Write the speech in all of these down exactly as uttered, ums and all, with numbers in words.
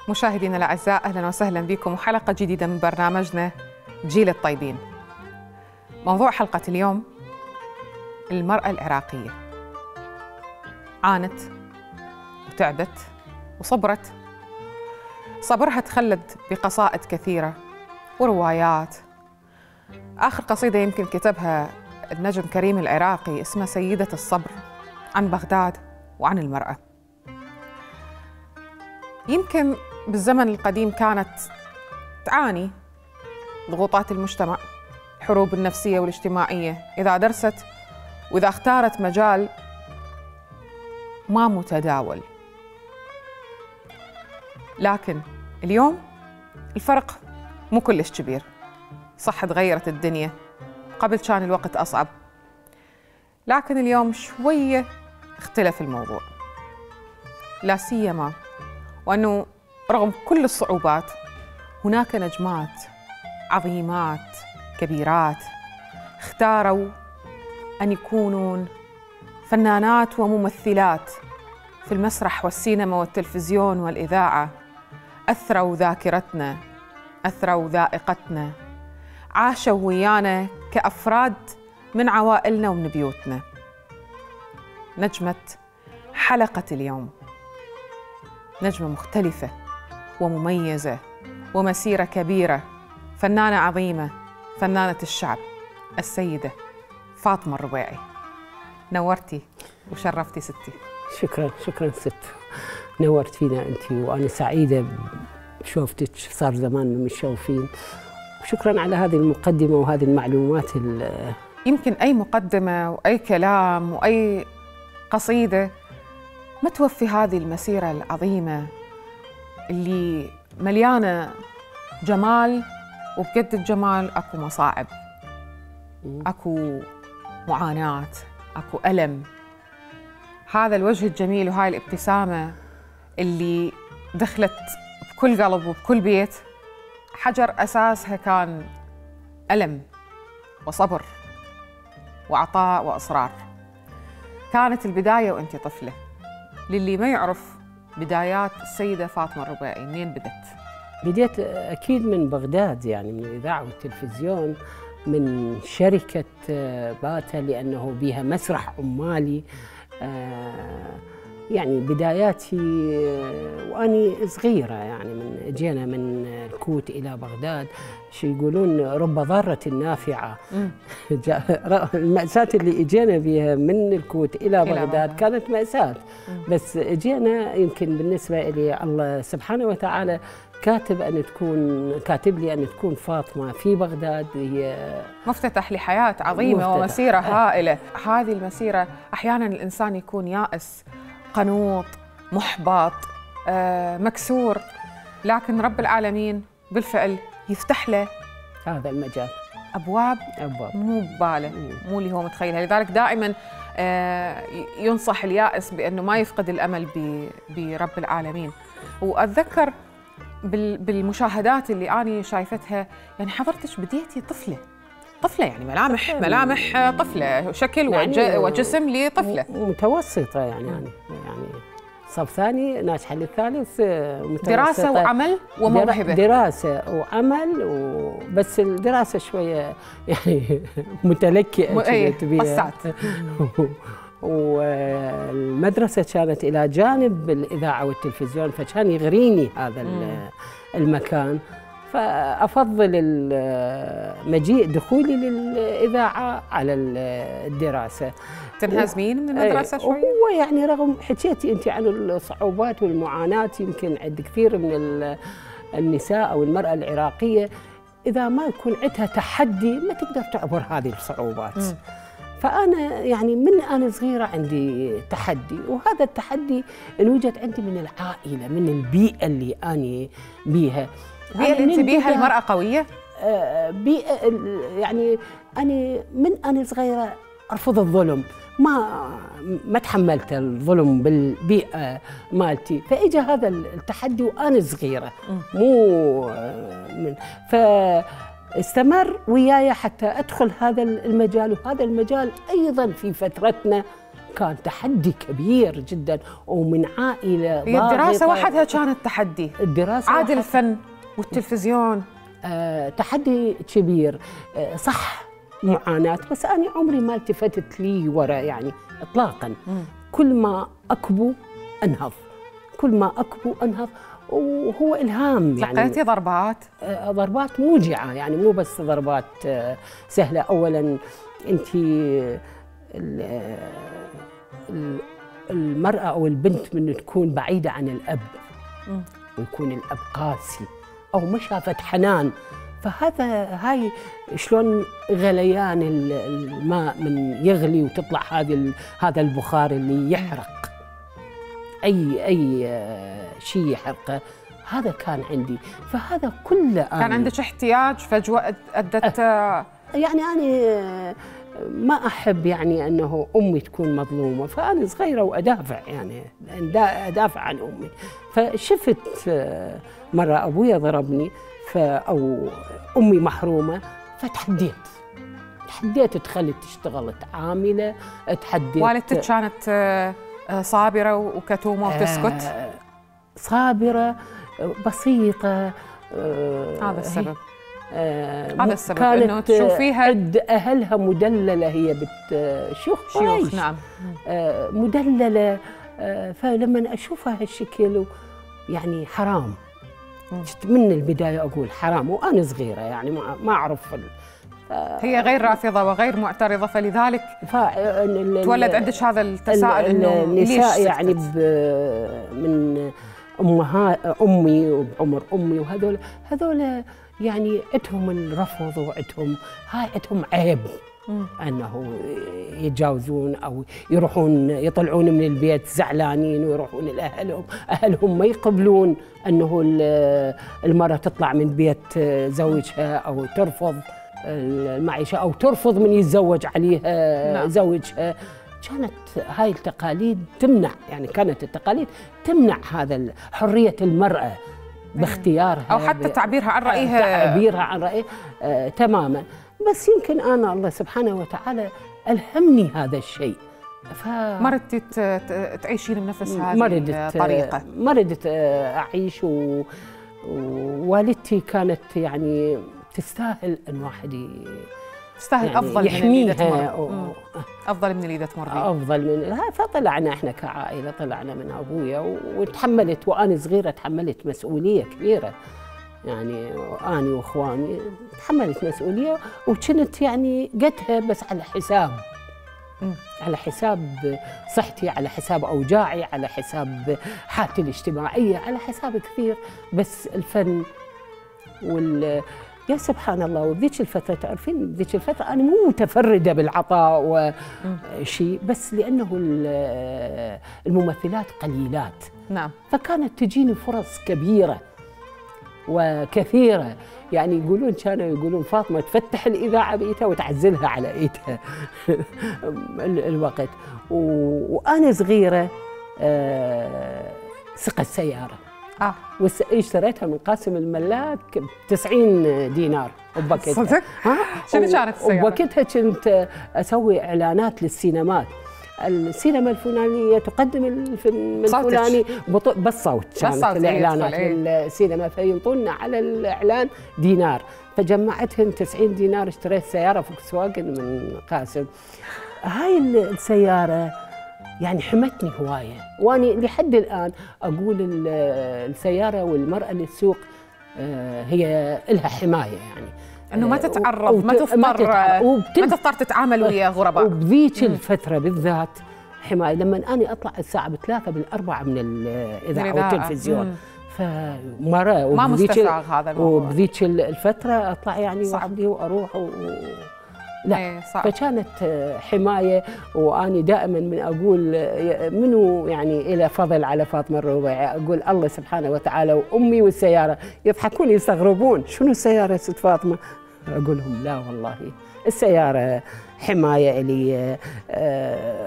مشاهدينا الأعزاء، أهلا وسهلا بكم وحلقة جديدة من برنامجنا جيل الطيبين. موضوع حلقة اليوم المرأة العراقية. عانت وتعبت وصبرت. صبرها تخلد بقصائد كثيرة وروايات. آخر قصيدة يمكن كتبها النجم كريم العراقي اسمها سيدة الصبر، عن بغداد وعن المرأة. يمكن بالزمن القديم كانت تعاني ضغوطات المجتمع، الحروب النفسية والاجتماعية، إذا درست وإذا اختارت مجال ما متداول. لكن اليوم الفرق مو كلش كبير. صح تغيرت الدنيا، قبل كان الوقت أصعب، لكن اليوم شوية اختلف الموضوع، لا سيما وأنه رغم كل الصعوبات هناك نجمات عظيمات كبيرات اختاروا أن يكونون فنانات وممثلات في المسرح والسينما والتلفزيون والإذاعة. أثروا ذاكرتنا، أثروا ذائقتنا، عاشوا ويانا كأفراد من عوائلنا ومن بيوتنا. نجمة حلقة اليوم نجمة مختلفة ومميزة ومسيرة كبيرة، فنانة عظيمة، فنانة الشعب، السيدة فاطمة الربيعي. نورتي وشرفتي ستي. شكرا شكرا ست، نورت فينا انت، وانا سعيدة بشوفتك، صار زمان متشوفين. شكرا على هذه المقدمة وهذه المعلومات. يمكن أي مقدمة وأي كلام وأي قصيدة ما توفي هذه المسيرة العظيمة اللي مليانة جمال، وبقد الجمال أكو مصاعب، أكو معاناة، أكو ألم. هذا الوجه الجميل وهاي الابتسامة اللي دخلت بكل قلب وبكل بيت، حجر أساسها كان ألم وصبر وعطاء وإصرار. كانت البداية وأنت طفلة. للي ما يعرف بدايات السيدة فاطمة الربيعي، منين بدت؟ بديت أكيد من بغداد، يعني من الإذاعة والتلفزيون، من شركة باتا، لأنه بها مسرح عمالي. يعني بداياتي وأني صغيرة، يعني من جينا من الكوت إلى بغداد، شو يقولون رب ضارة نافعة. المأساة اللي اجينا بها من الكوت إلى بغداد كانت مأساة، بس اجينا يمكن بالنسبة لي الله سبحانه وتعالى كاتب أن تكون كاتب لي أن تكون فاطمة في بغداد هي مفتتح لحياة عظيمة مفتتح. ومسيرة هائلة. هذه المسيرة أحيانا الإنسان يكون يائس، قنوط، محبط، آه، مكسور، لكن رب العالمين بالفعل يفتح له هذا المجال أبواب, أبواب. مو بباله، مو اللي هو متخيلها. لذلك دائما آه، ينصح اليائس بأنه ما يفقد الأمل برب العالمين. وأتذكر بالمشاهدات اللي أنا شايفتها، يعني حضرتك بديتي طفلة طفلة يعني ملامح ملامح طفلة، شكل يعني وجسم لطفلة متوسطة، يعني يعني يعني صف ثاني ناجحة للثالث، دراسة وعمل وموهبة. دراسة وعمل وبس، الدراسة شوية يعني متلكئة ايه قصات. والمدرسة كانت إلى جانب الإذاعة والتلفزيون، فكان يغريني هذا مم. المكان، فأفضل مجيء دخولي للإذاعة على الدراسة. تنهزمين من المدرسة شوي؟ هو يعني رغم حكيتي أنت عن الصعوبات والمعاناة، يمكن عند كثير من النساء أو المرأة العراقية اذا ما يكون عندها تحدي ما تقدر تعبر هذه الصعوبات. م. فانا يعني من انا صغيره عندي تحدي، وهذا التحدي انوجد عندي من العائله، من البيئه اللي اني بيها. البيئه اللي انت بيها المراه قويه؟ آه بيئه يعني انا من انا صغيره ارفض الظلم، ما ما تحملت الظلم بالبيئه مالتي، فاجى هذا التحدي وانا صغيره مو من فاستمر وياي حتى ادخل هذا المجال. وهذا المجال ايضا في فترتنا كان تحدي كبير جدا، ومن عائله هي الدراسه وحدها كانت تحدي. الدراسه عاد الفن والتلفزيون آه تحدي كبير. آه صح معاناة، بس أنا عمري ما التفتت لي وراء يعني إطلاقاً. مم. كل ما أكبو أنهض، كل ما أكبو أنهض، وهو إلهام يعني. لقيتي ضربات؟ آه ضربات موجعة يعني، مو بس ضربات آه سهلة. أولاً أنت المرأة أو البنت من تكون بعيدة عن الأب، مم. ويكون الأب قاسي أو ما شافت حنان، فهذا هاي شلون غليان الماء من يغلي وتطلع هذه هذا البخار اللي يحرق اي اي شيء يحرقه. هذا كان عندي، فهذا كله كان عندك احتياج فجوه ادت أه يعني انا ما احب يعني انه امي تكون مظلومه، فانا صغيره وادافع يعني ادافع عن امي. فشفت مره ابويا ضربني أو أمي محرومة، فتحديت تحديت تخلي تشتغل عاملة. تحديت. والدتك كانت صابرة وكتومة وتسكت؟ صابرة بسيطة. هذا السبب. هذا السبب انه تشوفيها عند اهلها مدلله، هي بت شيوخ شيوخ نعم مدلله. فلما اشوفها هالشكل يعني حرام. من البداية أقول حرام وأنا صغيرة يعني ما ما أعرف. هي غير رافضة وغير معترضة، فلذلك تولد عندك هذا التساؤل إنه النساء يعني من أمها أمي وبعمر أمي وهذول هذول يعني عندهم الرفض وعندهم هاي عندهم عيب. مم. أنه يتجاوزون أو يروحون يطلعون من البيت زعلانين ويروحون لأهلهم، أهلهم ما يقبلون أنه المرأة تطلع من بيت زوجها أو ترفض المعيشة أو ترفض من يتزوج عليها. نعم. زوجها. كانت هاي التقاليد تمنع، يعني كانت التقاليد تمنع هذا حرية المرأة باختيارها أو حتى تعبيرها عن رأيها تعبيرها عن رأيها آه تماماً. بس يمكن أنا الله سبحانه وتعالى ألهمني هذا الشيء. ف مرضتي تعيشين بنفس هذه الطريقة؟ مرضت أعيش، ووالدتي كانت يعني تستاهل أن واحد تستاهل يعني أفضل من اللي مرض. أفضل من اللي مرضي. أفضل من فطلعنا إحنا كعائلة، طلعنا من أبويا وتحملت، وأنا صغيرة تحملت مسؤولية كبيرة يعني، أنا وإخواني تحملت مسؤولية وكنت يعني قدها بس على حساب م. على حساب صحتي، على حساب أوجاعي، على حساب حالتي الاجتماعية، على حساب كثير. بس الفن وال يا سبحان الله. وذيك الفترة تعرفين ذيك الفترة أنا مو متفردة بالعطاء وشيء، بس لأنه الممثلات قليلات. نعم. فكانت تجيني فرص كبيرة وكثيرة، يعني يقولون كانوا يقولون فاطمة تفتح الإذاعة بإيدها وتعزلها على إيدها الوقت. وأنا صغيرة سقت سيارة آه. واشتريتها من قاسم الملاك ب تسعين دينار وبوقتها. صدق؟ ها؟ شنو كانت السيارة؟ وبوقتها كنت أسوي إعلانات للسينمات. السينما الفلانية تقدم الفيلم الفلاني بالصوت، كانت الإعلانات للسينما، فينطونا على الإعلان دينار، فجمعتهم تسعين دينار، اشتريت سيارة فوكس واجن من قاسم. هاي السيارة يعني حمتني هواية، وأنا لحد الآن أقول السيارة والمرأة اللي تسوق هي لها حماية، يعني انه ما تتعرض، ما تضطر ما تضطر تتعامل ويا غرباء. وبذيك الفترة بالذات حماية. لما أنا أطلع الساعة بثلاثة بالأربعة من الإذاعة والتلفزيون، فمرة ما مستساغ هذا الموضوع، وبذيك الفترة أطلع يعني وحدي وأروح و... لا ايه صعب. فكانت حماية. وأني دائما من أقول منو يعني إلى فضل على فاطمة الربيعي، أقول الله سبحانه وتعالى وأمي والسيارة. يضحكون يستغربون شنو السيارة ست فاطمة؟ أقول لهم لا والله السيارة حماية إلي،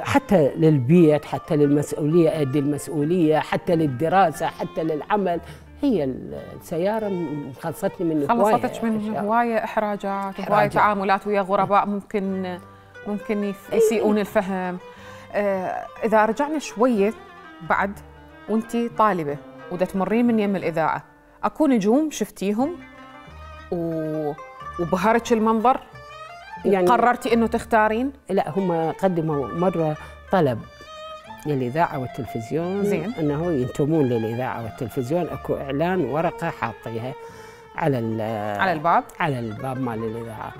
حتى للبيت، حتى للمسؤولية أدي المسؤولية، حتى للدراسة، حتى للعمل. هي السيارة خلصتني من هواية، خلصتك من هواية إحراجات وهواية تعاملات ويا غرباء ممكن ممكن يسيئون الفهم. إذا رجعنا شوية بعد وأنتي طالبة ودا تمرين من يم الإذاعة، أكو نجوم شفتيهم و... وبهرتش المنظر يعني وقررتي إنه تختارين؟ لا هم قدموا مرة طلب للإذاعة والتلفزيون زين. أنه ينتمون للإذاعة والتلفزيون. أكو إعلان ورقة حاطيها على على الباب على الباب مال الإذاعة.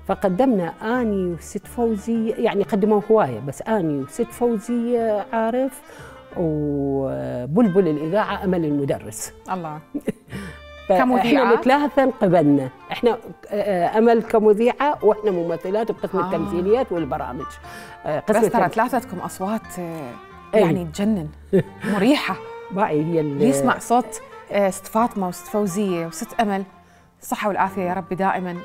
فقدمنا أني وست فوزية، يعني قدموا هواية بس أني وست فوزية عارف وبلبل الإذاعة أمل المدرس. الله كمذيعة احنا الثلاثة قبلنا، احنا أمل كمذيعة واحنا ممثلات بقسم آه. التمثيليات والبرامج. بس ترى ثلاثتكم أصوات يعني تجنن مريحة. باعي هي اللي يسمع صوت ست فاطمة وست فوزية وست أمل، الصحة والعافية يا رب دائما،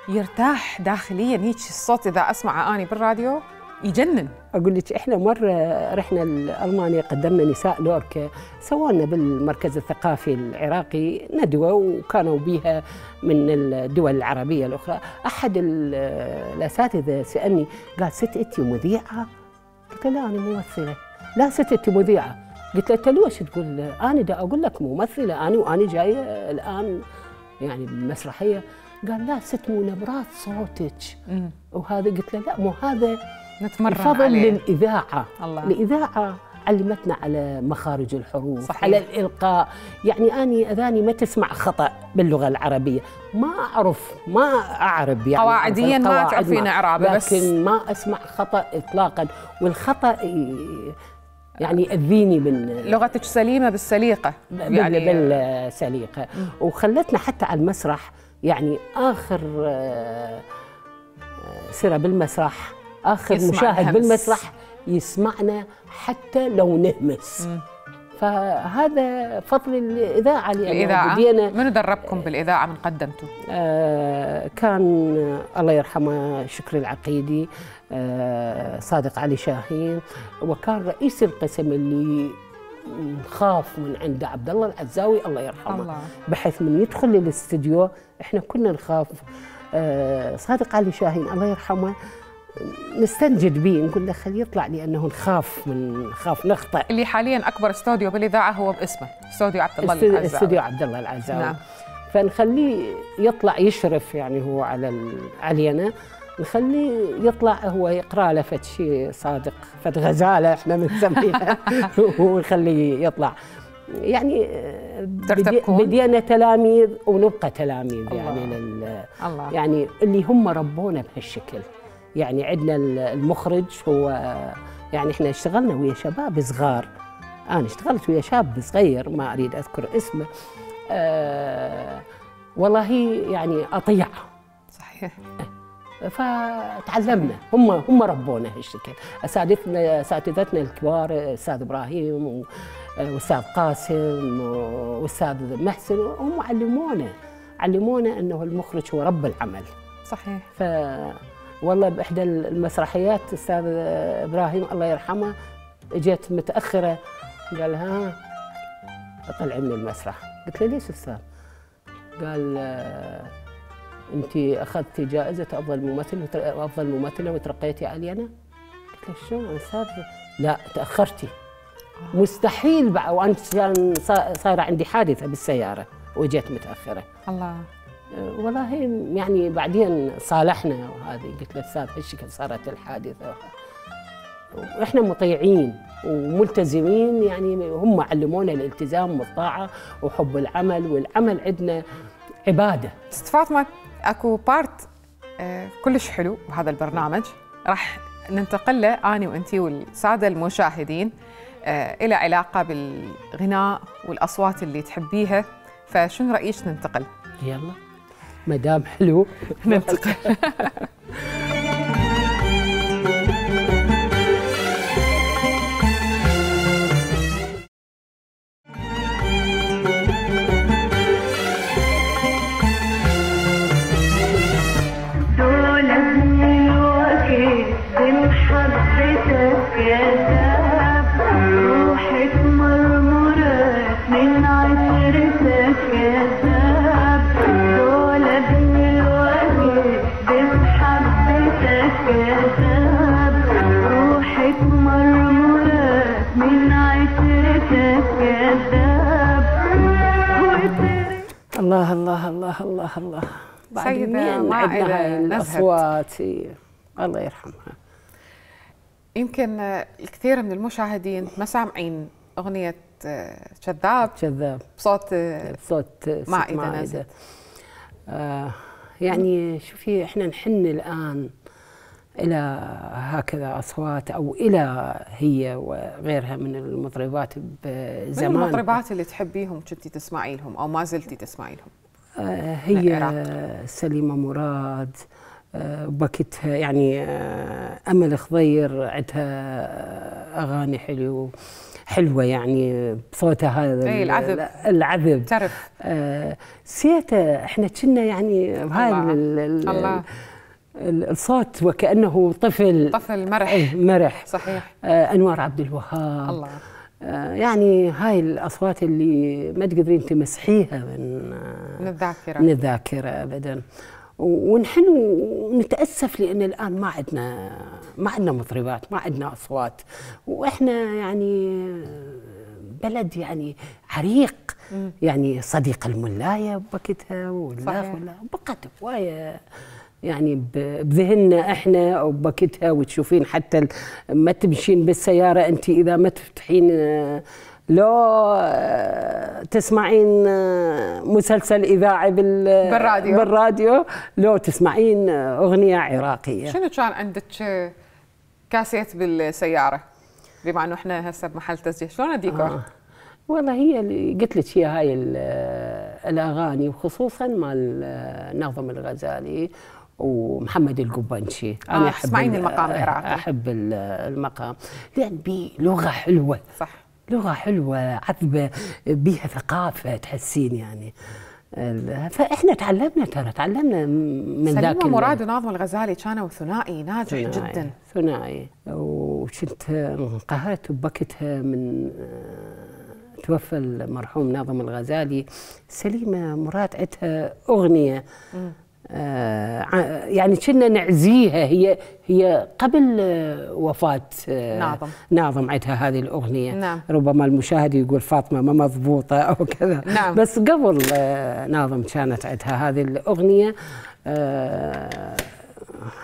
يرتاح داخليا هيك الصوت. إذا أسمع أني بالراديو يجنن. أقول لك إحنا مرة رحنا لألمانيا، قدمنا نساء لوركا، سوالنا بالمركز الثقافي العراقي ندوة وكانوا بيها من الدول العربية الأخرى. أحد الأساتذة سألني قال ست أنتِ مذيعة؟ قلت له لا أنا ممثلة. لا ست أنتِ مذيعة. قلت له أنت ليش تقول أنا دا أقول لك ممثلة أنا وأنا جاية الآن يعني بالمسرحية؟ قال لا ست مو نبرات صوتك وهذا. قلت له لا مو هذا نتمرن الفضل عليه. للإذاعة. الله. الإذاعة علمتنا على مخارج الحروف، صحيح. على الإلقاء. يعني أني أذاني ما تسمع خطأ باللغة العربية، ما أعرف ما أعرب يعني قواعديا ما تعرفين إعرابه، بس لكن ما أسمع خطأ إطلاقا. والخطأ يعني يأذيني من لغتك سليمة بالسليقة يعني بالسليقة. وخلتنا حتى على المسرح يعني آخر سيرة بالمسرح، آخر مشاهد الهمس. بالمسرح يسمعنا حتى لو نهمس. م. فهذا فضل الإذاعة. الإذاعة منو دربكم بالإذاعة من قدمته؟ آه كان الله يرحمه شكري العقيدي، آه صادق علي شاهين، وكان رئيس القسم اللي نخاف من عند عبد الله العزاوي الله يرحمه. الله. بحيث من يدخل للاستديو احنا كنا نخاف. آه صادق علي شاهين الله يرحمه نستنجد به، نقول له خليه يطلع لانه نخاف من نخاف نخطأ. اللي حاليا اكبر استوديو بالاذاعه هو باسمه استوديو عبد الله العزاوي. استوديو عبد الله العزاوي. نعم. فنخليه يطلع يشرف يعني هو على علينا، نخليه يطلع هو يقرا له فد شيء صادق، فد غزاله احنا بنسميها ونخليه يطلع. يعني بدينا تلاميذ ونبقى تلاميذ. الله. يعني لل الله. يعني اللي هم ربونا بهالشكل. يعني عندنا المخرج هو يعني احنا اشتغلنا ويا شباب صغار، انا اشتغلت ويا شاب صغير ما اريد اذكر اسمه. آه والله يعني اطيع. صحيح. فتعلمنا، هم هم ربونا هالشكل. اساتذتنا اساتذتنا الكبار استاذ ابراهيم واستاذ قاسم واستاذ محسن، هم علمونا علمونا انه المخرج هو رب العمل. صحيح. ف والله باحدى المسرحيات استاذ ابراهيم الله يرحمه اجيت متاخره قال ها اطلع من المسرح. قلت له ليش استاذ؟ قال انت اخذتي جائزه افضل ممثل وافضل ممثله وترقيتي علينا. قلت له شلون استاذ؟ لا تاخرتي. مستحيل بقى، وانا كان صايره عندي حادثه بالسياره وجيت متاخره. الله. والله يعني بعدين صالحنا وهذه. قلت له استاذ هالشكل صارت الحادثه. واحنا مطيعين وملتزمين، يعني هم علمونا الالتزام والطاعه وحب العمل، والعمل عندنا عباده. ست فاطمه اكو بارت آه كلش حلو بهذا البرنامج راح ننتقل له اني وانتي والساده المشاهدين. آه إلى علاقة بالغناء والأصوات اللي تحبيها، فشنو رأيك ننتقل؟ يلا مدام حلو ننتقل. الله الله الله الله الله. سيدة مائدة هاي الأصوات، الله يرحمها. يمكن الكثير من المشاهدين ما سامعين أغنية كذاب كذاب بصوت بصوت مائدة نزهت. آه يعني شوفي احنا نحن الآن إلى هكذا أصوات أو إلى هي وغيرها من المطربات بزمان. من المطربات اللي تحبيهم كنتي تسمعي لهم أو ما زلتي تسمعي لهم؟ آه هي سليمة مراد، آه بكتها يعني آه أمل خضير عندها أغاني حلو حلوة يعني بصوتها هذا اي العذب العذب تعرف آه سيته احنا كنا يعني بهاي الله الصوت وكأنه طفل طفل مرح. ايه مرح صحيح. آه أنوار عبد الوهاب الله. آه يعني هاي الأصوات اللي ما تقدرين تمسحيها من من الذاكرة من الذاكرة أبدا. ونحن نتأسف لأن الآن ما عندنا ما عندنا مطربات، ما عندنا أصوات، وإحنا يعني بلد يعني عريق. م. يعني صديق الملاية بوقتها والله بقت هواية يعني بذهننا احنا او بوقتها، وتشوفين حتى ما تمشين بالسياره انت اذا ما تفتحين لو تسمعين مسلسل اذاعي بالراديو بالراديو لو تسمعين اغنيه عراقيه. شنو كان عندك كاسيت بالسياره بما انه احنا هسه بمحل تسجيل؟ شلون الديكور؟ آه. والله هي اللي قلت لك هي هاي الاغاني وخصوصا مال ناظم الغزالي ومحمد القبنشي. آه انا احب تسمعين المقام العراقي. احب المقام لان بيه لغه حلوه. صح. لغه حلوه عذبه بيها ثقافه تحسين يعني. فاحنا تعلمنا ترى تعلمنا من ذاك. سليمة مراد وناظم الغزالي كانوا ثنائي ناجح ثنائي جدا. ثنائي. وكنت انقهرت بوقتها من توفى المرحوم ناظم الغزالي، سليمة مراد عندها أغنية آه يعني كنا نعزيها، هي هي قبل وفاة آه ناظم ناظم عندها هذه الأغنية. نعم. ربما المشاهد يقول فاطمة ما مضبوطة أو كذا. نعم. بس قبل آه ناظم كانت عندها هذه الأغنية. آه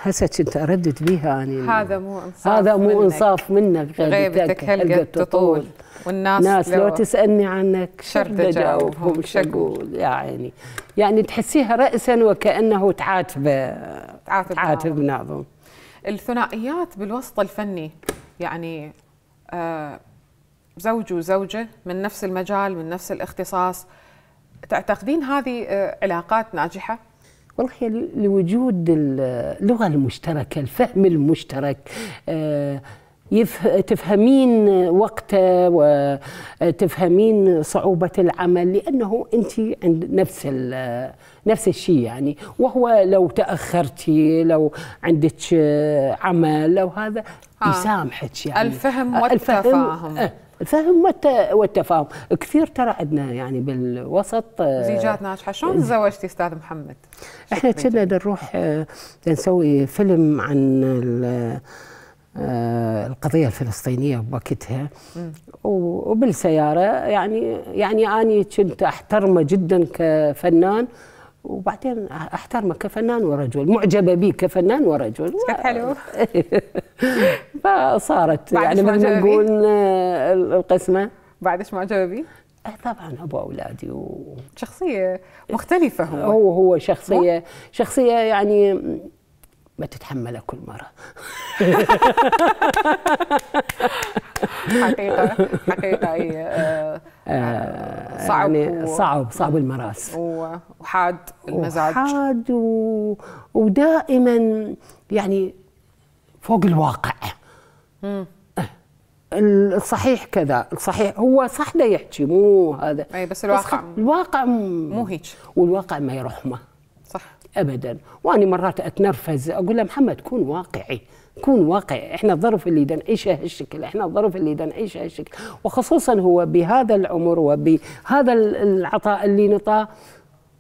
هسه كنت أردد بيها أنا. هذا مو إنصاف هذا مو إنصاف منك، غيبتك هلقة تطول والناس ناس لو, لو تسألني عنك شرد أجاوبهم شقول يا عيني. يعني تحسيها رأسا وكأنه تعاتب تعاتب ناظم. الثنائيات بالوسط الفني يعني آه زوج وزوجة من نفس المجال من نفس الاختصاص، تعتقدين هذه آه علاقات ناجحة؟ والله لوجود اللغة المشتركة، الفهم المشترك، آه تفهمين وقته وتفهمين صعوبة العمل، لأنه أنت عند نفس نفس الشيء يعني. وهو لو تأخرتي لو عندك عمل لو هذا آه. يسامحك يعني. الفهم والتفاهم. الفهم, الفهم والتفاهم كثير ترى عندنا يعني بالوسط زيجات ناجحة. شلون تزوجتي أستاذ محمد؟ احنا كنا نروح نسوي فيلم عن القضية الفلسطينية بوقتها، وبالسيارة يعني يعني أنا كنت أحترمه جدا كفنان، وبعدين أحترمه كفنان ورجل، معجبة به كفنان ورجل. كيف حلو. فصارت يعني مثل ما نقول القسمة. بعدش معجبة به؟ طبعا أبو أولادي و... شخصية مختلفة. هو هو هو شخصية شخصية يعني ما تتحمله كل مرة. حقيقة حقيقة أي آه آه صعب يعني و... صعب صعب المراس وحاد المزاج وحاد و... ودائما يعني فوق الواقع. مم. الصحيح كذا، الصحيح هو صح ده يحكي مو هذا، اي بس الواقع بس الواقع مو هيك، والواقع ما يرحمه صح ابدا. وانا مرات اتنرفز اقول له محمد كون واقعي، كون واقعي، احنا الظرف اللي دا نعيشه هالشكل، احنا الظرف اللي دا نعيشه هالشكل، وخصوصا هو بهذا العمر وبهذا العطاء اللي نطاه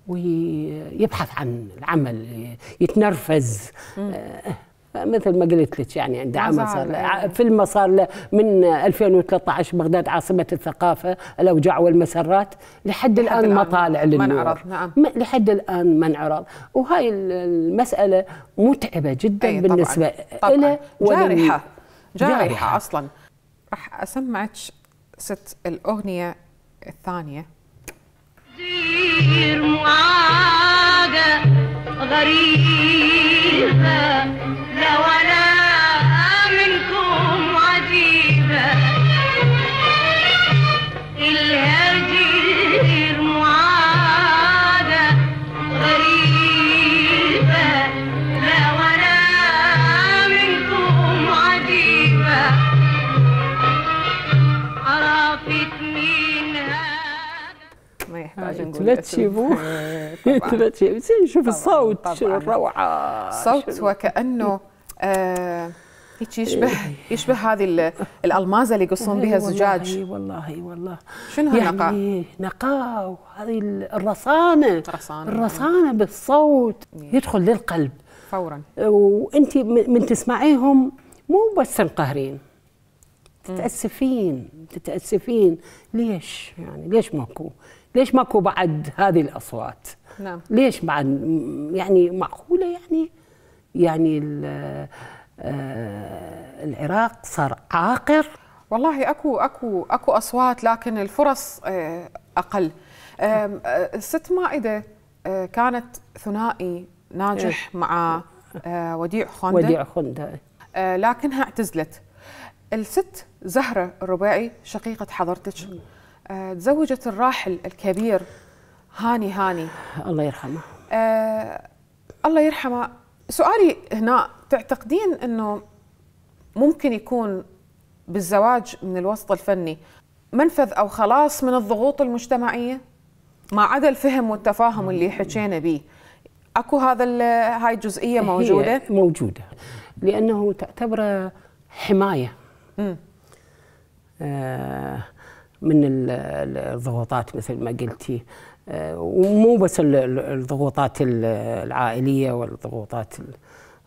ويبحث عن العمل، يتنرفز. مثل ما قلت لك يعني عنده عمل صار له فيلم صار له من ألفين وثلاثة عشر بغداد عاصمة الثقافة، الأوجاع والمسرات، لحد, لحد الآن ما طالع للنور. نعم. لحد الآن ما انعرض، وهاي المسألة متعبة جدا بالنسبة له. جارحة جارحة أصلا. راح أسمعك ست الأغنية الثانية. دير معاقة غريبة لو أنا منكم عجيبة، الهجير معاقة غريبة لو أنا منكم عجيبة، عرفت مين ما يحتاج نقول لا تشيبوه لا تشيبوه. شوف الصوت شنو الروعه، الصوت وكانه آه هيك يشبه يشبه هذه الالمازه اللي يقصون بها الزجاج. والله والله شنو هالنقاء؟ يعني نقاء، وهذه الرصانه رصانة. الرصانه بالصوت يدخل للقلب فورا، وانت من تسمعيهم مو بس تنقهرين، تتاسفين تتاسفين. ليش يعني ليش ماكو ليش ماكو بعد هذه الاصوات؟ نعم. ليش بعد يعني معقوله يعني يعني العراق صار عاقر؟ والله اكو اكو اكو اصوات لكن الفرص اقل. الست مائده كانت ثنائي ناجح مع وديع خنده وديع خنده لكنها اعتزلت. الست زهرة الرباعي شقيقة حضرتك تزوجت الراحل الكبير هاني هاني الله يرحمه. آه الله يرحمه. سؤالي هنا، تعتقدين انه ممكن يكون بالزواج من الوسط الفني منفذ او خلاص من الضغوط المجتمعية ما عدا الفهم والتفاهم اللي حكينا به؟ اكو هذا هاي الجزئية موجودة؟ هي موجودة لانه تعتبره حماية آه من الضغوطات مثل ما قلتي، ومو بس الضغوطات العائليه والضغوطات،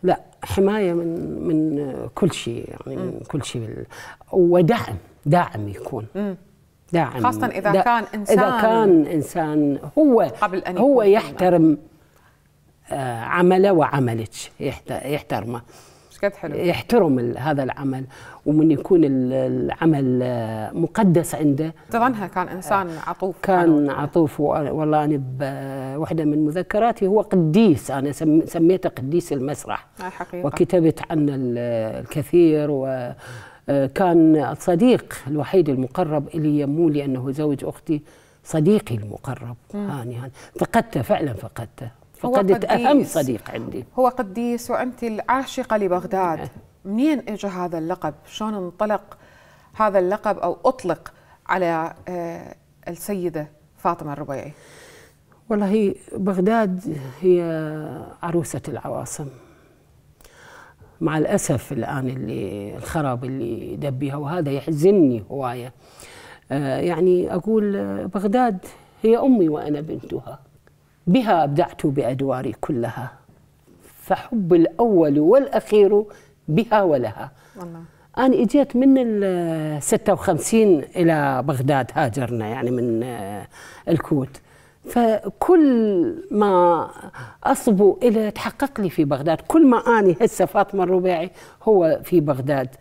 لا حمايه من من كل شيء يعني من كل شيء، ودعم داعم يكون داعم، خاصه اذا دا كان انسان اذا كان انسان هو قبل أن هو يحترم عمله وعملك، يحترمه قد حلو، يحترم هذا العمل، ومن يكون العمل مقدس عنده. تظنها كان انسان عطوف، كان عطوف. والله انا بوحده من مذكراتي هو قديس، انا سميته قديس المسرح حقيقة. وكتبت عنه الكثير، وكان الصديق الوحيد المقرب الي مو لانه زوج اختي، صديقي المقرب هاني هاني فقدته فعلا، فقدته فقدت أهم صديق عندي. هو قديس وأنت العاشقة لبغداد. منين اجى هذا اللقب؟ شلون انطلق هذا اللقب أو أطلق على السيدة فاطمة الربيعي؟ والله بغداد هي عروسة العواصم، مع الأسف الآن اللي الخراب اللي دبيها، وهذا يحزنني هواية. يعني أقول بغداد هي أمي وأنا بنتها، بها أبدعت بأدواري كلها، فحب الأول والأخير بها ولها. والله. أنا إجيت من ال ستة وخمسين إلى بغداد، هاجرنا يعني من الكويت، فكل ما أصبو إلى تحقق لي في بغداد. كل ما أنا هسه فاطمة الربيعي هو في بغداد.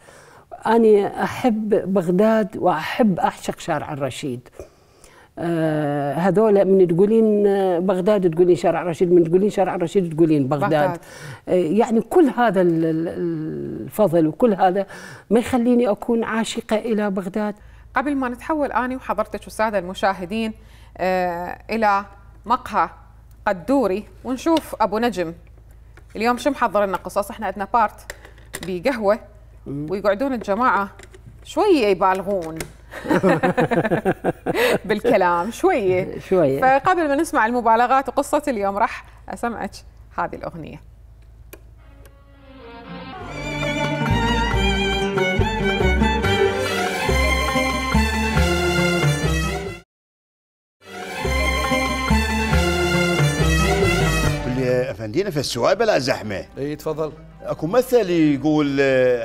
أنا أحب بغداد وأحب أعشق شارع الرشيد. آه هذول من تقولين بغداد تقولين شارع رشيد، من تقولين شارع رشيد تقولين بغداد, بغداد. آه يعني كل هذا الفضل وكل هذا ما يخليني أكون عاشقة إلى بغداد. قبل ما نتحول أنا وحضرتك والسادة المشاهدين آه إلى مقهى قدوري ونشوف أبو نجم اليوم شو محضر لنا قصص. احنا عندنا بارت بقهوة ويقعدون الجماعة شوية يبالغون بالكلام شوية شوية. فقبل ما نسمع المبالغات وقصة اليوم راح أسمعك هذه الأغنية. افندينا في السؤال بلا زحمه. اي تفضل. اكو مثل يقول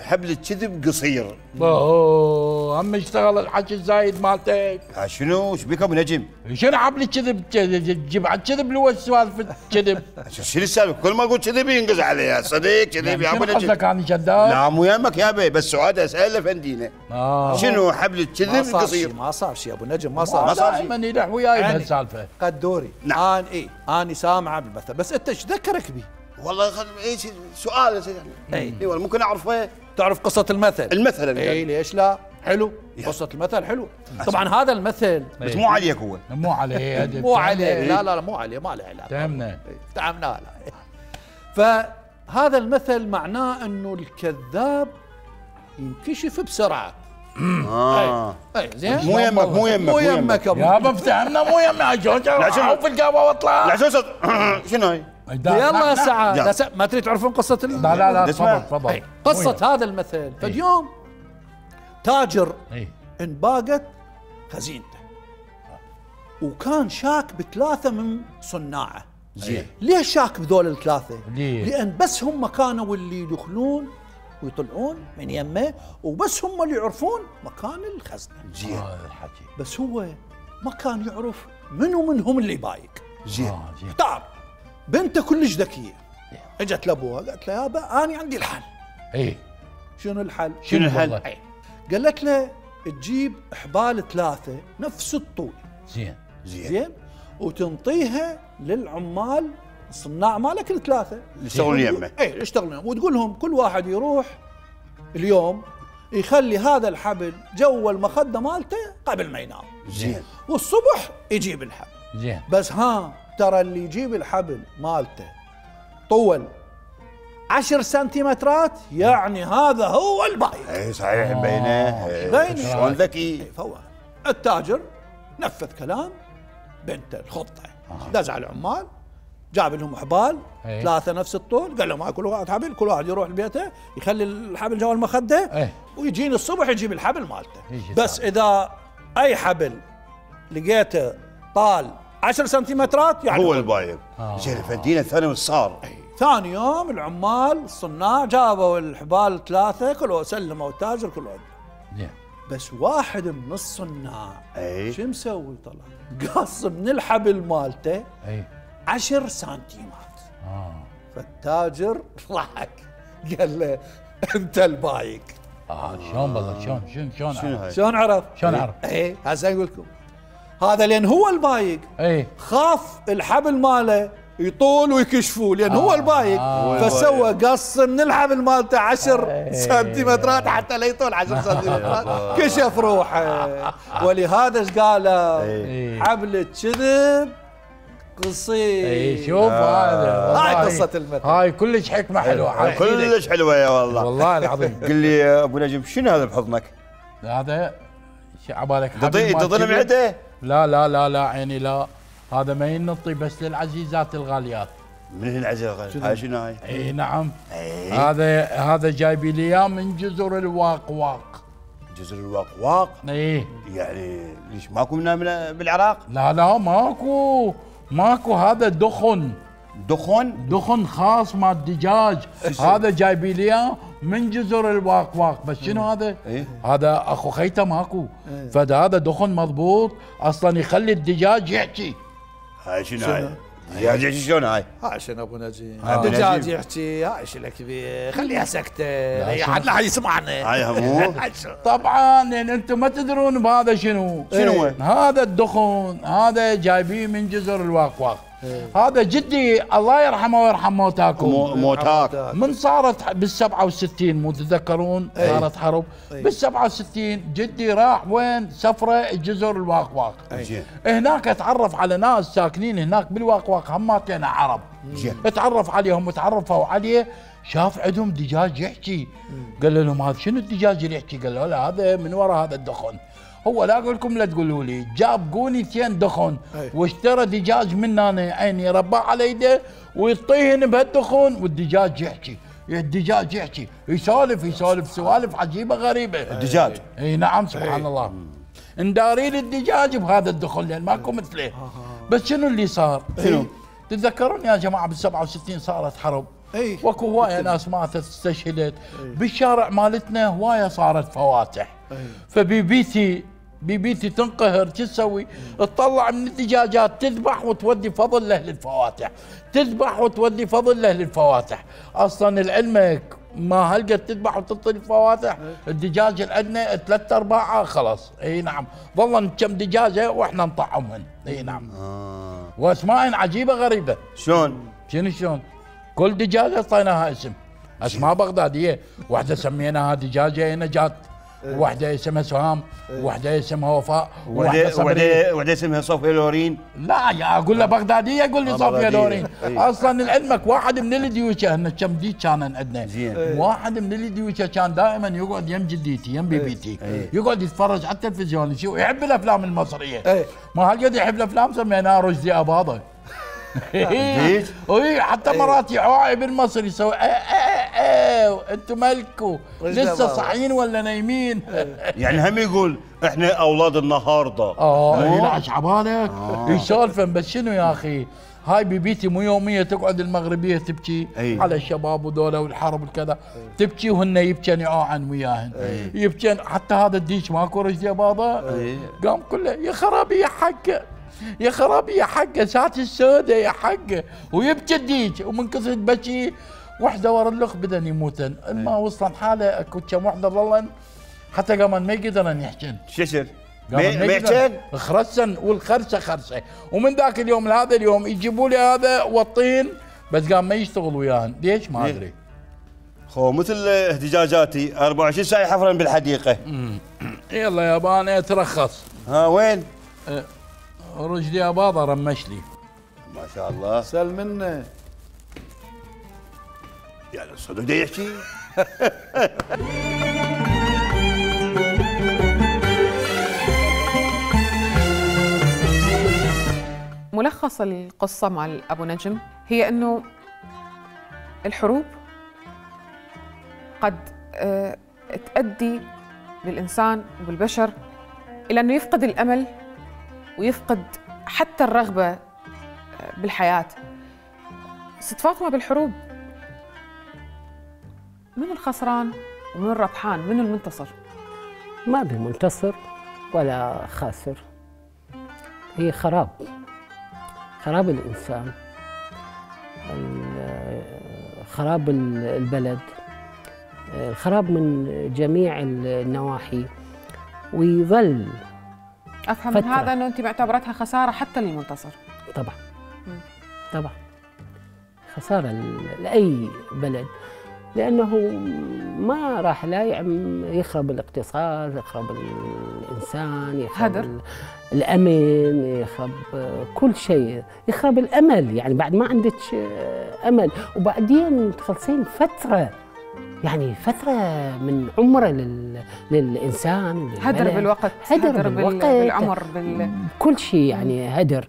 حبل الكذب قصير. اوه هم اشتغل الحكي الزايد مالتك. شنو؟ ايش بك ابو نجم؟ شنو حبل الكذب؟ تجيب على الكذب اللي هو سوالف الكذب. شنو السالفه؟ كل ما اقول كذب ينقز علي صديق كذب يا ابو نجم. شنو قصدك انا كذاب؟ لا مو يمك يا بي بس سؤال اسال افندينا. آه. شنو حبل الكذب قصير؟ ما صار شيء ابو نجم ما صار. ما صار شيء. دائما يلح وياي بهالسالفه. قدوري. نعم. انا اي انا سامعه بالمثل بس انت ايش ذكرك بيه؟ والله اي سؤال يعني اي والله ممكن اعرفه. تعرف قصة المثل؟ المثل اي ليش لا؟ حلو قصة المثل حلو. طبعا هذا المثل بس مو عليك هو. مو عليه مو عليه لا لا لا مو عليه ما له علاقة. فهمنا. فهمنا لا. فهذا المثل معناه انه الكذاب ينكشف بسرعة. اه اي زين مو يمك مو يمك مو يمك يابا افتهمنا مو يمك شلون في القهوة واطلع. لا شو شنو هاي؟ يلا ساعة ما تريد تعرفون قصة ال... لا لا لا تفضل تفضل. قصة هذا المثل فاليوم تاجر انباقت خزينته وكان شاك بثلاثة من صناعه. زين. ليش شاك بذول الثلاثة؟ ليه؟ لأن بس هم كانوا اللي يدخلون ويطلعون من يمه وبس هم اللي يعرفون مكان الخزنة. زين. بس هو ما كان يعرف منو منهم اللي بايق. زين. اختار بنته كلش ذكيه اجت لابوها قالت له يابا انا عندي الحل. اي شنو الحل؟ شنو الحل؟ اي قالت له تجيب حبال ثلاثه نفس الطول. زين زين زين وتنطيها للعمال الصناع مالك الثلاثه اللي يشتغلون يمه. اي يشتغلون وتقول لهم كل واحد يروح اليوم يخلي هذا الحبل جوا المخده مالته قبل ما ينام. زين. والصبح يجيب الحبل. زين. بس ها ترى اللي يجيب الحبل مالته طول عشر سنتيمترات يعني هذا هو البايق. اي صحيح بينه بينه شلون ذكي. فهو التاجر نفذ كلام بنته الخطه. دز على العمال جاب لهم حبال ثلاثه نفس الطول قال لهم كل واحد حبل كل واحد يروح لبيته يخلي الحبل جوا المخده ويجيني الصبح يجيب الحبل مالته. بس اذا اي حبل لقيته طال عشر سنتيمترات يعني هو البايق. زين فدينا الثاني وش صار؟ ثاني يوم العمال الصناع جابوا الحبال ثلاثه كل واحد سلموا التاجر كل واحد. زين. بس واحد من الصناع اي شو مسوي طلع قص من الحبل مالته اي عشر سنتيمات. اه فالتاجر ضحك قال له انت البايق. اه شلون بالله شلون شلون شلون شنو عرف؟ هاي؟ شلون عرف؟ شلون عرف؟ اي هسه اقول لكم هذا لان هو البايق اي خاف الحبل ماله يطول ويكشفوه لان آه هو البايق. آه فسوى قص من الحبل مالته عشر سنتيمترات حتى لا يطول عشر سنتيمترات كشف روحه. ولهذا ايش قال؟ حبل الكذب قصير. اي شوف هذا هاي قصة المثل. هاي كلش حكمة حلوة. كلش حلوة يا والله. والله العظيم. قل لي يا ابو نجم شنو هذا بحضنك؟ هذا شو عبالك؟ تظن معده؟ لا لا لا لا عيني لا هذا ما ينطي بس للعزيزات الغاليات. من العزيزات هاي شنو هاي؟ اي نعم. أي. هذا هذا جايبي لي اياه من جزر الواقواق. جزر الواقواق؟ اي يعني ليش ماكو منها من بالعراق؟ لا لا ماكو ماكو هذا دخن. دخن؟ دخن خاص مال الدجاج. هذا جايبي لي اياه من جزر الواقواق. بس شنو هذا؟ إيه؟ هذا اخو خيته ماكو. فهذا دخن مضبوط اصلا يخلي الدجاج يحكي. هاي شنو هاي؟ دجاج يحكي شلون هاي؟ هاي شنو ابو نجيب؟ أبو الدجاج نجيب. يحكي هاي شنو كبير، خليها سكته، اي حد لا يسمعنا. هاي همو طبعا لان انتم ما تدرون بهذا شنو. شنو؟ هذا الدخن هذا جايبيه من جزر الواقواق. هذا جدي الله يرحمه ويرحم موتاكم. مو- موتاك من صارت بال سبعة وستين مو تتذكرون صارت حرب بال سبعة وستين جدي راح وين سفره جزر الواقواق. زين. هناك اتعرف على ناس ساكنين هناك بالواقواق هماتنا عرب. زين. اتعرف عليهم وتعرفوا عليه شاف عندهم دجاج يحكي. قال لهم هذا شنو الدجاج اللي يحكي؟ قال له لا هذا من وراء هذا الدخن. هو لا اقول لكم لا تقولوا لي جاب قونيتين دخن واشترى دجاج من هنا عيني رباه على يده ويطيهن بهالدخن والدجاج يحكي. الدجاج يحكي يسولف يسولف سوالف عجيبه غريبه. الدجاج اي نعم سبحان الله. ندارين الدجاج بهذا الدخن لان ماكو مثله. بس شنو اللي صار؟ شنو؟ تتذكرون يا جماعه بال سبعة وستين صارت حرب. اي واكو هوايه ناس ماتت استشهدت. بالشارع مالتنا هوايه صارت فواتح. فبيبيتي بيبيتي تنقهر شو تسوي؟ تطلع من الدجاجات تذبح وتودي فضل له للفواتح، تذبح وتودي فضل له للفواتح، اصلا لعلمك ما هلقت تذبح وتعطي الفواتح، الدجاج اللي عندنا ثلاث ارباعها خلص، اي نعم، ظلن كم دجاجه واحنا نطعمهن، اي نعم. آه. واسماء عجيبه غريبه. شلون؟ شنو شلون؟ كل دجاجه اعطيناها اسم، اسماء بغداديه، واحده سميناها دجاجه نجاة، وحده اسمها سهام، وحده اسمها وفاء، وحده وحده وحده وحده اسمها صوفيا لورين. لا يا اقول له بغداديه يقول لي آه، صوفيا بغدادية. لورين. أي. اصلا لعلمك واحد من الديوشه هن كم ديك كان عندنا. زين. واحد من الديوشه كان دائما يقعد يم جديتي يم بيبيتي أي. يقعد يتفرج على التلفزيون يشوف يحب الافلام المصريه. أي. ما هالقد يحب الافلام سميناه رشدي اباضه. ليش؟ اي حتى مرات يعاي بالمصري يسوي ايه ايه ايه انتم مالكوا لسه صاحيين ولا نايمين؟ يعني هم يقول احنا اولاد النهارده. اه يلعش عبالك يسولفن. بس شنو يا اخي هاي بيبيتي مو يوميه تقعد المغربيه تبكي أي. على الشباب وذولا والحرب والكذا، تبكي وهن يبكن يعاعن وياهن يبكن. حتى هذا الديش ماكو رشدي اباضه قام كله يا خرابي يا حقه يا خرابي يا حقه ساعة السودة يا حقه ويبكي الديج. ومن كثر بكي وحده ورا الاخ بدن يموتن. ما وصلن حاله اكو كم وحده ظلن حتى قامن ما يقدرن يحجن. ششر قامن ما يقدرن خرسن والخرسه خرسه. ومن ذاك اليوم لهذا اليوم يجيبوا لي هذا والطين بس قام ما يشتغل وياهن. ليش ما ادري. خو مثل اهتجاجاتي أربعة وعشرين ساعه يحفرن بالحديقه. يلا يابا اترخص. ها وين؟ أه رشدي اباضه رمش لي. ما شاء الله. سل منه. يعني صدق ده يحكي. ملخص القصة مع أبو نجم هي أنه الحروب قد آه، تؤدي بالإنسان وبالبشر إلى أنه يفقد الأمل ويفقد حتى الرغبة آه، بالحياة. ست فاطمة بالحروب من الخسران ومن الربحان؟ من المنتصر؟ ما في منتصر ولا خاسر، هي خراب خراب الإنسان، خراب البلد، الخراب من جميع النواحي. ويظل أفهم من فترة. هذا أنه أنت معتبرتها خسارة حتى للمنتصر. طبعا طبعا خسارة لأي بلد، لأنه ما راح لا يعم يخرب الاقتصاد، يخرب الإنسان، يخرب هدر. ال- الأمن، يخرب كل شيء، يخرب الأمل. يعني بعد ما عندك أمل وبعدين تخلصين فترة، يعني فترة من عمره لل... للإنسان وللبلد. هدر بالوقت، هدر, هدر بالوقت، بالعمر، بال... كل شيء يعني هدر.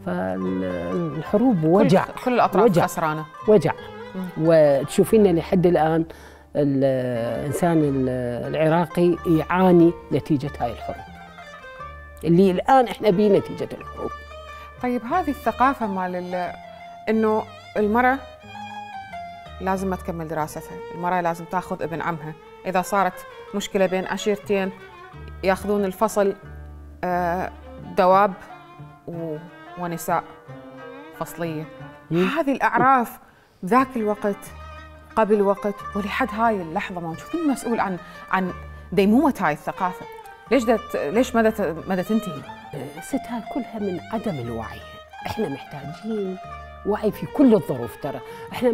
فالحروب وجع، كل, كل الأطراف وجع. خسرانة. وجع. وتشوفين لحد الآن الإنسان العراقي يعاني نتيجة هاي الحروب اللي الآن إحنا بيه نتيجة الحروب. طيب هذه الثقافة مال ال- إنه المرأة لازم ما تكمل دراستها، المرأة لازم تاخذ ابن عمها، إذا صارت مشكلة بين عشيرتين ياخذون الفصل آه، دواب و- ونساء. فصليه. هذه الاعراف ذاك الوقت قبل وقت ولحد هاي اللحظه ما نشوف مين مسؤول عن عن ديمومه هاي الثقافه؟ ليش دت ليش مدى مدى تنتهي؟ ست هاي كلها من عدم الوعي. احنا محتاجين وعي في كل الظروف. ترى احنا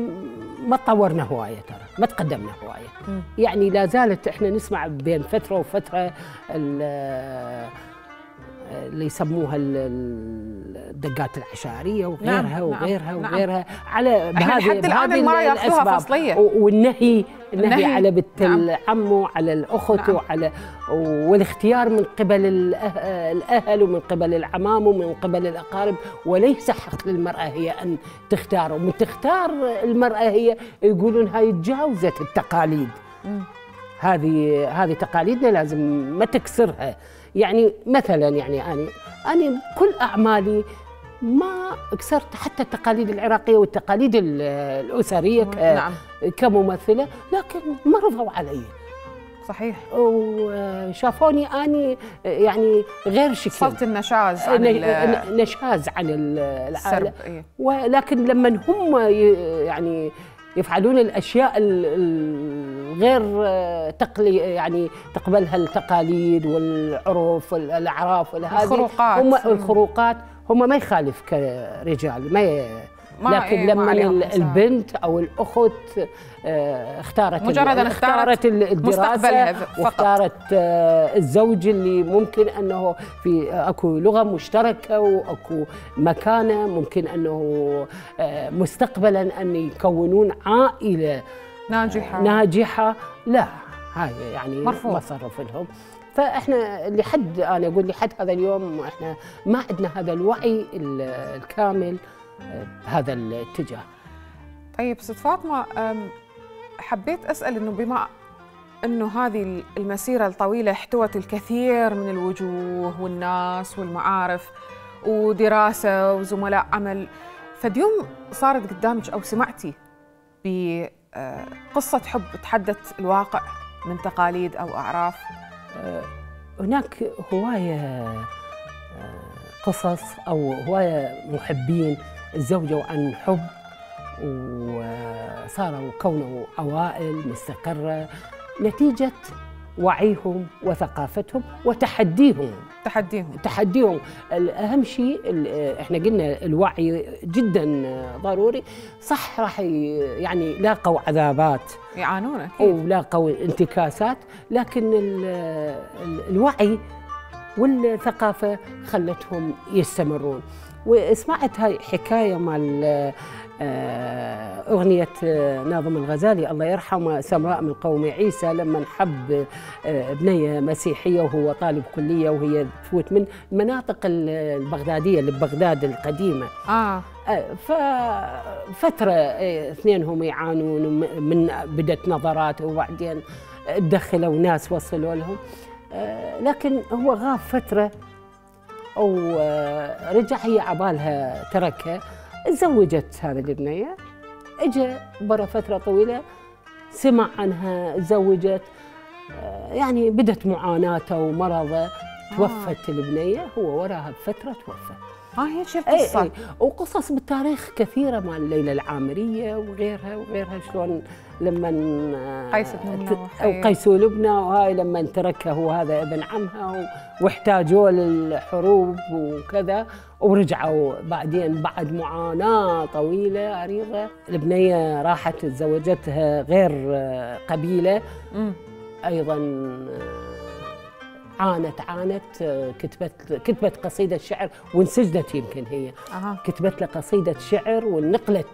ما تطورنا هوايه، ترى ما تقدمنا هوايه. م. يعني لا زالت احنا نسمع بين فتره وفتره اللي يسموها الدقات العشائريه وغيرها نعم وغيرها نعم وغيرها نعم. على بهذه بهذه الاسباب والنهي النهي, النهي على بنت نعم العم وعلى الاخت نعم وعلى والاختيار من قبل الاهل ومن قبل العمام ومن قبل الاقارب، وليس حق للمراه هي ان تختار، ومن تختار المراه هي يقولون هاي تجاوزت التقاليد. م. هذه هذه تقاليدنا لازم ما تكسرها. يعني مثلا يعني أنا أنا كل أعمالي ما كسرت حتى التقاليد العراقية والتقاليد الأسرية نعم. كممثلة، لكن ما رضوا علي. صحيح. وشافوني أني يعني غير شكل، صرت النشاز عن نشاز عن العالم. إيه؟ ولكن لما هم يعني يفعلون الاشياء الغير تقلي يعني تقبلها التقاليد والعرف والاعراف الخروقات هم الخروقات هم ما يخالف كرجال ما, ي... ما لكن إيه لما البنت او الاخت اختارت مجرد ان اختارت الدراسه واختارت الزوج اللي ممكن انه في اكو لغه مشتركه واكو مكانه ممكن انه مستقبلا ان يكونون عائله ناجحه ناجحه لا هاي يعني مرفوض. ما صرف لهم. فاحنا لحد انا اقول لحد هذا اليوم احنا ما عندنا هذا الوعي الكامل بهذا الاتجاه. طيب ست فاطمه، حبيت اسال انه بما انه هذه المسيره الطويله احتوت الكثير من الوجوه والناس والمعارف ودراسه وزملاء عمل، فاليوم صارت قدامك او سمعتي بقصه حب تحدث الواقع من تقاليد او اعراف؟ هناك هوايه قصص او هوايه محبين تزوجوا عن حب وصاروا كونوا عوائل مستقرة نتيجة وعيهم وثقافتهم وتحديهم تحديهم تحديهم أهم شيء احنا قلنا الوعي جدا ضروري. صح راح يعني لاقوا عذابات يعانون أكيد ولاقوا انتكاسات، لكن الوعي والثقافة خلتهم يستمرون. وسمعت هاي حكاية مال أغنية ناظم الغزالي الله يرحمه سمراء من قوم عيسى، لما حب بنية مسيحية وهو طالب كلية وهي تفوت من المناطق البغدادية اللي ببغداد القديمة. آه. ففترة اثنينهم يعانون من بدت نظرات وبعدين دخلوا ناس وصلوا لهم، لكن هو غاب فترة ورجع هي عبالها تركها، تزوجت هذه البنية، اجى برا فترة طويلة سمع عنها تزوجت، يعني بدت معاناته ومرضه، توفت آه. البنية، هو وراها بفترة توفى. ها هي شو القصة؟ اي اي وقصص بالتاريخ كثيرة مال ليلى العامرية وغيرها وغيرها، شلون لما قيس بن لبنى او قيس لبنى وهاي لما تركها هو هذا ابن عمها واحتاجوا للحروب وكذا، ورجعوا بعدين بعد معاناة طويلة عريضة البنية راحت تزوجتها غير قبيلة. م. ايضا عانت عانت كتبت كتبت قصيدة شعر وانسجنت يمكن هي. أه. كتبت له قصيدة شعر ونقلت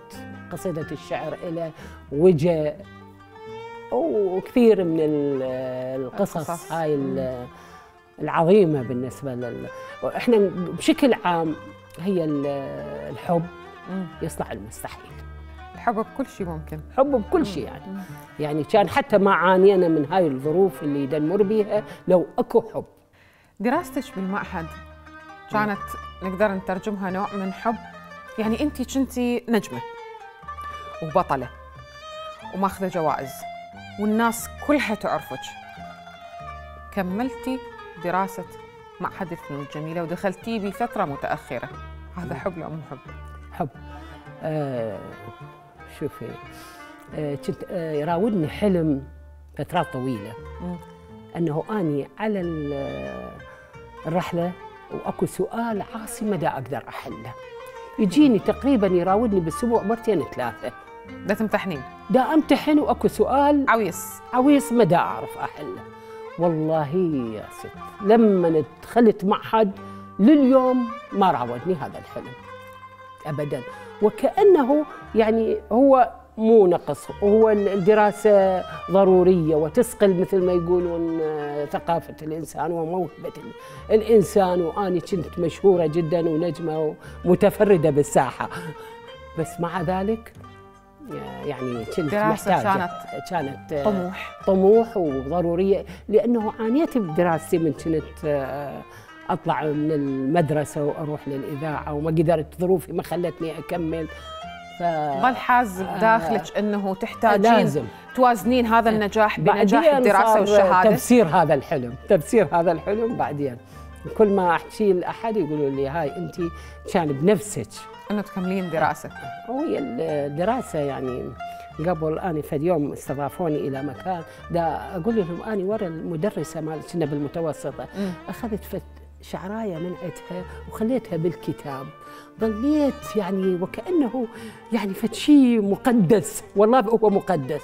قصيدة الشعر إلى وجه وكثير من القصص, القصص. هاي العظيمة بالنسبة لل احنا بشكل عام هي الحب يصنع المستحيل. الحب بكل شيء ممكن، حب بكل شيء يعني يعني كان حتى ما عانينا من هاي الظروف اللي يدمر بيها لو اكو حب. دراستك بالمعهد كانت نقدر نترجمها نوع من حب، يعني انت كنتي نجمة وبطلة وماخذة جوائز والناس كلها تعرفك، كملتي دراسة معهد الفنون الجميلة ودخلتي بفترة متأخرة، هذا حب لو مو حب؟ حب. آه شوفي، آه كنت آه يراودني حلم فترات طويله مم. انه اني على الرحله واكو سؤال عاصي ما دا اقدر احله. يجيني تقريبا يراودني بالاسبوع مرتين ثلاثه. دا تمتحنين؟ دا امتحن واكو سؤال عويص عويص ما دا اعرف احله. والله يا ست لما دخلت معهد لليوم ما راودني هذا الحلم ابدا، وكانه يعني هو مو نقص، وهو الدراسه ضروريه وتسقل مثل ما يقولون ثقافه الانسان وموهبه الانسان، واني كنت مشهوره جدا ونجمه ومتفرده بالساحه، بس مع ذلك يعني كنت محتاجه كانت كانت طموح طموح وضروريه، لانه عانيت بدراستي من كنت اطلع من المدرسه واروح للاذاعه وما قدرت، ظروفي ما خلتني اكمل. ف... ظل حاز بداخلك انه تحتاجين لازم توازنين هذا النجاح بنجاح الدراسه والشهاده. تفسير هذا الحلم، تفسير هذا الحلم بعدين كل ما احكي لاحد يقولوا لي هاي انت كان بنفسك انه تكملين دراسه. وهي الدراسه يعني قبل اني فد يوم استضافوني الى مكان دا اقول لهم اني ورا المدرسه مال كنا بالمتوسطه م. اخذت فد شعرايه منعتها وخليتها بالكتاب، ظليت يعني وكانه يعني فد شيء مقدس، والله هو مقدس.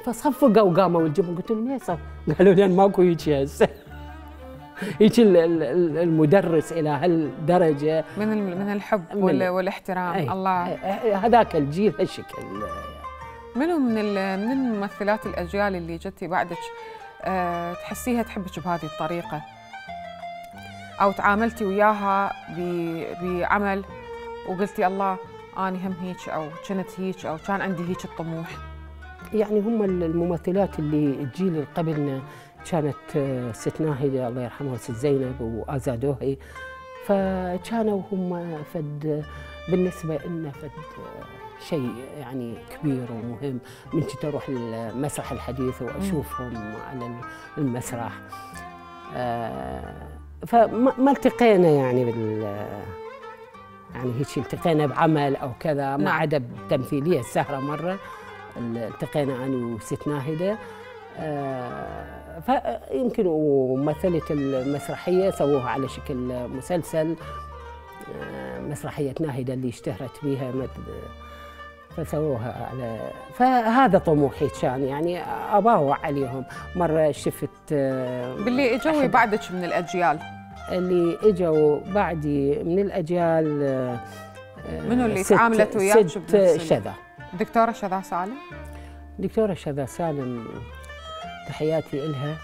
فصفقوا وقاموا الجمهور، قلت لهم ليش؟ قالوا لي ماكو هيك هسه. هيك المدرس الى هالدرجه من من الحب من والاحترام. أي الله هذاك الجيل هالشكل. منو من من الممثلات الاجيال اللي جتي بعدك أه تحسيها تحبك بهذه الطريقه، او تعاملتي وياها بعمل وقلتي الله اني هم هيك او كنت هيك او كان عندي هيك الطموح؟ يعني هم الممثلات اللي الجيل اللي قبلنا كانت ست ناهده الله يرحمها وست زينب وازادوهي، فكانوا هم فد بالنسبه لنا فد شيء يعني كبير ومهم. من كنت اروح المسرح الحديث واشوفهم على المسرح، فما التقينا يعني بال يعني هيك التقينا بعمل او كذا، ما عدا بتمثيليه السهره مره التقينا انا وست ناهده. آه فيمكن ومثلت المسرحيه سووها على شكل مسلسل، آه مسرحيه ناهده اللي اشتهرت بها فسووها على، فهذا طموحي كان يعني اباوع عليهم. مره شفت آه باللي اجوا بعدك من الاجيال اللي اجوا بعدي من الاجيال، آه منو اللي تعاملت وياك؟ ست شذا، دكتوره شذا سالم. دكتوره شذا سالم تحياتي إلها.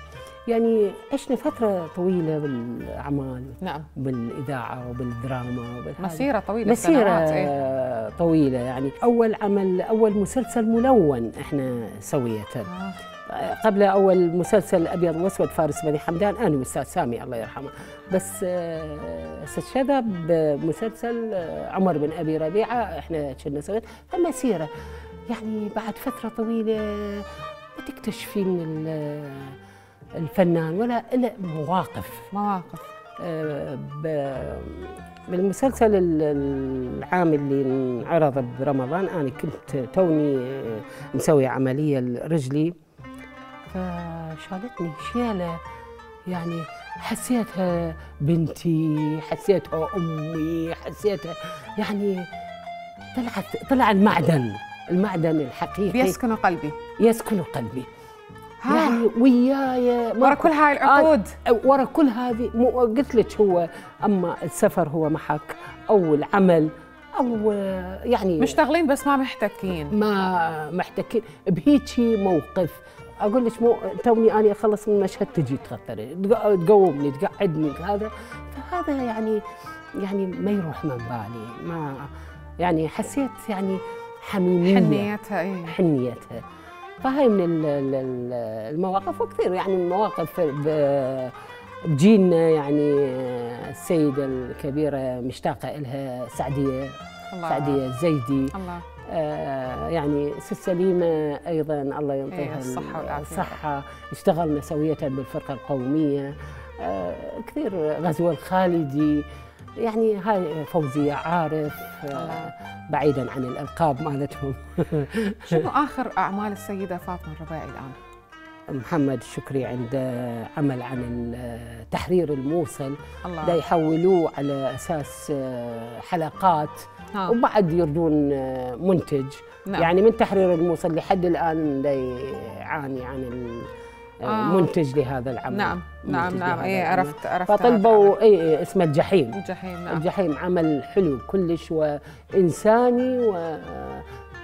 يعني عشنا فترة طويلة بالأعمال، نعم، بالإذاعة وبالدراما وبالحاجة. مسيرة طويلة، مسيرة إيه؟ طويلة يعني. أول عمل أول مسلسل ملون إحنا سويته، آه. قبل أول مسلسل أبيض وأسود فارس بني حمدان أنا والأستاذ سامي الله يرحمه، بس ست شذا بمسلسل عمر بن أبي ربيعة إحنا كنا سويت. فمسيرة يعني بعد فترة طويلة ما تكتشفين الفنان ولا إلا مواقف مواقف. بالمسلسل العام اللي انعرض برمضان أنا كنت توني مسوي عملية لرجلي، فشالتني شيلة يعني حسيتها بنتي، حسيتها أمي، حسيتها يعني طلعت طلع المعدن المعدن الحقيقي يسكن قلبي يسكن قلبي يعني وياي ورا كل هاي العقود، ورا كل هذه. قلت لك هو اما السفر هو محك او العمل او يعني مشتغلين بس ما محتكين ما محتكين بهيجي موقف. اقول لك مو توني اني اخلص من مشهد تجي تغطري تقومني تقعدني هذا، فهذا يعني يعني ما يروح من بالي. ما يعني حسيت يعني حميميه حنيتها ايه حنيتها. فهي من المواقف، وكثير يعني المواقف بجيلنا يعني السيدة الكبيرة مشتاقة إلها سعدية الله. سعدية الزيدي الله. آه يعني ست سليمة أيضا الله ينطيها إيه الصحة والعافية. الصحة. اشتغلنا سوية بالفرقة القومية، آه كثير. غزوة الخالدي يعني هاي فوزية عارف آه بعيدا عن الألقاب مالتهم. شنو آخر أعمال السيدة فاطمة الربيعي الآن؟ محمد الشكري عنده عمل عن تحرير الموصل، الله. دا يحولوه على أساس حلقات ها. وبعد يردون منتج. نعم. يعني من تحرير الموصل لحد الآن دا يعاني عن المنتج لهذا العمل. نعم نعم نعم اي عرفت عرفت. فطلبوا اي اسمه الجحيم. الجحيم نعم. الجحيم عمل حلو كلش وإنساني،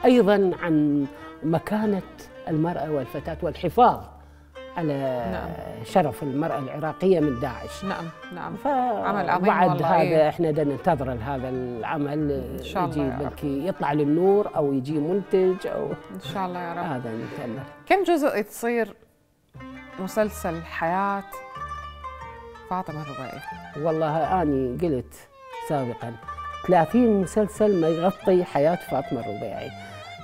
وأيضا عن مكانة المرأة والفتاة والحفاظ على نعم. شرف المرأة العراقية من داعش. نعم نعم. عمل عظيم بعد هذا إيه؟ احنا بدنا ننتظر هذا العمل ان شاء الله يجي بلكي يطلع للنور او يجي منتج او ان شاء الله يا رب. هذا نتمنى. كم جزء تصير مسلسل حياة فاطمة الربيعي؟ والله اني قلت سابقا ثلاثين مسلسل ما يغطي حياة فاطمة الربيعي.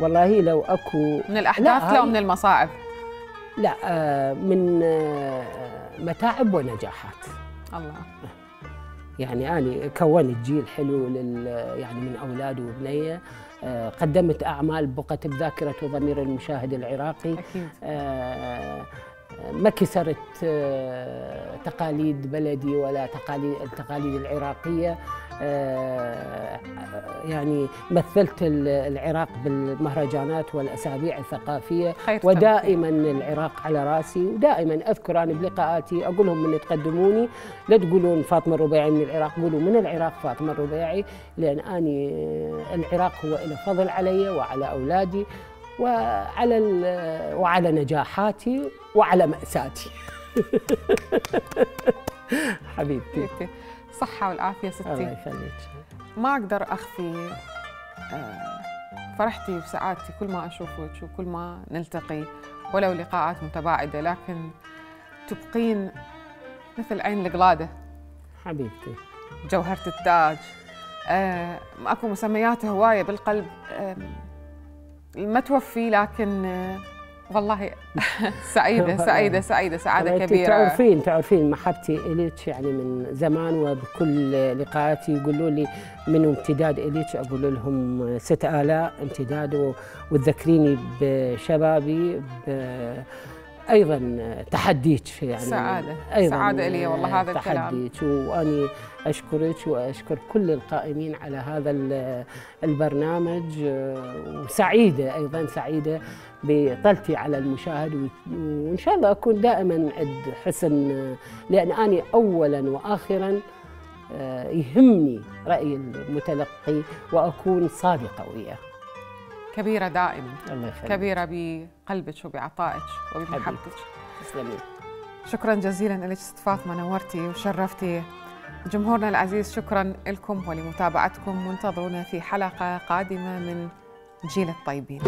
والله لو اكو من الاحداث لا من المصاعب؟ لا من متاعب ونجاحات. الله. يعني أنا كونت جيل حلو لل يعني من أولادي وبنية، قدمت أعمال بقت بذاكرة وضمير المشاهد العراقي. أكيد. ما كسرت تقاليد بلدي ولا تقاليد التقاليد العراقية. يعني مثلت العراق بالمهرجانات والأسابيع الثقافية، ودائما العراق على راسي، ودائما أذكر أنا بلقاءاتي أقول لهم من يتقدموني لا تقولون فاطمة الربيعي من العراق، قولوا من العراق فاطمة الربيعي، لأن أني العراق هو له فضل علي وعلى أولادي وعلى وعلى نجاحاتي وعلى مأساتي. حبيبتي الصحة والعافية ستي. الله يخليك. ما أقدر أخفي فرحتي وسعادتي كل ما أشوفك وكل ما نلتقي ولو لقاءات متباعدة، لكن تبقين مثل عين القلادة. حبيبتي. جوهرة التاج. آه أكو مسميات هواية بالقلب آه ما توفي، لكن آه والله سعيدة سعيدة سعيدة سعادة كبيرة. تعرفين تعرفين محبتي إليك يعني من زمان، وبكل لقاءاتي يقولوا لي منو امتداد إليك، أقول لهم ست آلاء امتداد، وتذكريني بشبابي أيضا تحديك يعني سعادة أيضا سعادة إلي والله هذا الكلام. تحديك، وأني أشكرك وأشكر كل القائمين على هذا البرنامج، وسعيدة أيضا سعيدة بطلتي على المشاهد، وإن شاء الله أكون دائما عند حسن، لأن أنا أولا وآخرا يهمني رأي المتلقي وأكون صادقة وياه. كبيرة دائما. الله يخليك. كبيرة بقلبك وبعطائك وبمحبتك. تسلمي. شكرا جزيلا لك ست فاطمة، نورتي وشرفتي جمهورنا العزيز. شكرا لكم ولمتابعتكم، وانتظرونا في حلقة قادمة من جيل الطيبين.